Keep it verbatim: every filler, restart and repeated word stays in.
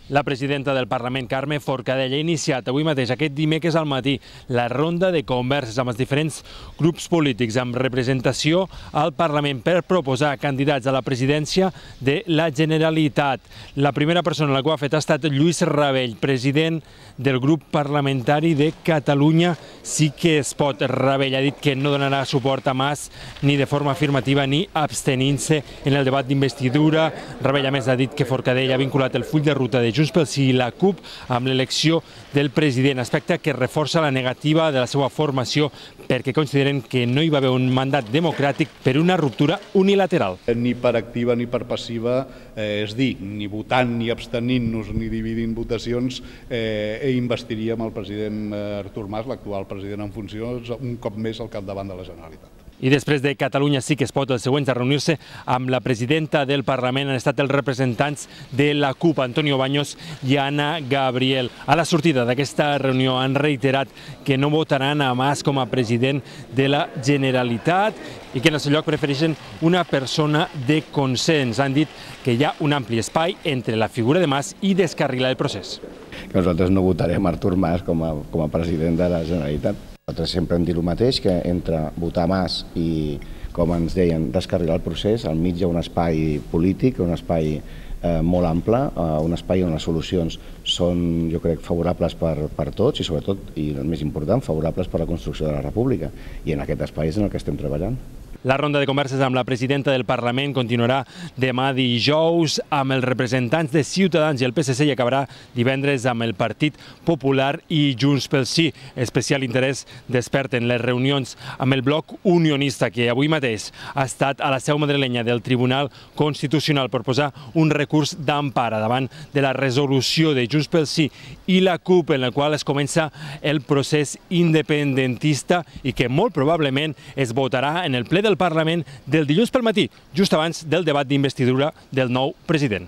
La presidenta del Parlament, Carme Forcadell, ha iniciat avui mateix, aquest dimecres al matí, la ronda de converses amb els diferents grups polítics amb representació al Parlament per proposar candidats a la presidència de la Generalitat. La primera persona a la que ho ha fet ha estat Lluís Rabell, president del grup parlamentari de Catalunya Sí que es pot. Rabell ha dit que no donarà suport a Mas ni de forma afirmativa ni abstenint-se en el debat d'investidura. Rabell, a més, ha dit que Forcadell ha vinculat el full de ruta de Junts pel Sí i la CUP amb l'elecció del president, aspecte que reforça la negativa de la seva formació perquè consideren que no hi va haver un mandat democràtic per una ruptura unilateral. Ni per activa ni per passiva, eh, és dir, ni votant ni abstenint-nos ni dividint votacions, eh, investiríem el president Artur Mas, l'actual president en funcions, un cop més al capdavant de la Generalitat. I després de Catalunya Sí que es pot, els següents a reunir-se amb la presidenta del Parlament han estat els representants de la CUP, Antonio Baños i Anna Gabriel. A la sortida d'aquesta reunió han reiterat que no votaran a Mas com a president de la Generalitat i que en el seu lloc prefereixen una persona de consens. Han dit que hi ha un ampli espai entre la figura de Mas i descarrilar el procés. Que nosaltres no votarem Artur Mas com a, com a president de la Generalitat. Nosaltres sempre hem dit el mateix, que entre votar Mas i, com ens deien, descarrilar el procés, al mig hi ha un espai polític, un espai eh, molt ample, eh, un espai on les solucions són, jo crec, favorables per, per tots i, sobretot, i el més important, favorables per a la construcció de la República. I en aquest espai és en el que estem treballant. La ronda de converses amb la presidenta del Parlament continuarà demà dijous amb els representants de Ciutadans i el P S C i acabarà divendres amb el Partit Popular i Junts pel Sí. Especial interès desperten les reunions amb el bloc unionista que avui mateix ha estat a la seu madrilenya del Tribunal Constitucional per posar un recurs d'empara davant de la resolució de Junts pel Sí i la CUP en la qual es comença el procés independentista i que molt probablement es votarà en el ple del Parlament del dilluns pel matí, just abans del debat d'investidura del nou president.